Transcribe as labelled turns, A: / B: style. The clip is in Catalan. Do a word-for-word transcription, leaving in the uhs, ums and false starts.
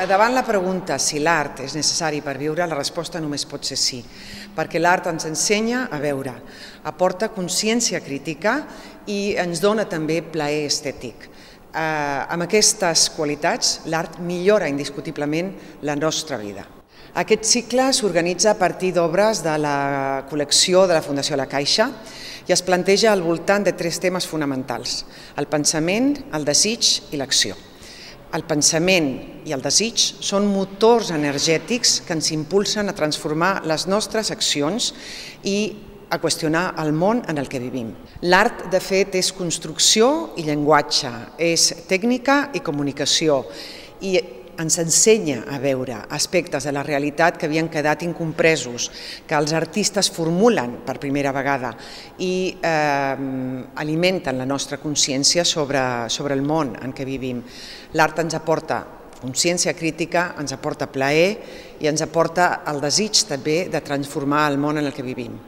A: Davant la pregunta si l'art és necessari per viure, la resposta només pot ser sí, perquè l'art ens ensenya a veure, aporta consciència crítica i ens dona també plaer estètic. Eh, amb aquestes qualitats, l'art millora indiscutiblement la nostra vida. Aquest cicle s'organitza a partir d'obres de la col·lecció de la Fundació La Caixa i es planteja al voltant de tres temes fonamentals: el pensament, el desig i l'acció. El pensament i el desig són motors energètics que ens impulsen a transformar les nostres accions i a qüestionar el món en el que vivim. L'art, de fet, és construcció i llenguatge, és tècnica i comunicació, i ens ensenya a veure aspectes de la realitat que havien quedat incompresos, que els artistes formulen per primera vegada i eh, alimenten la nostra consciència sobre, sobre el món en què vivim. L'art ens aporta consciència crítica, ens aporta plaer i ens aporta el desig també de transformar el món en el que vivim.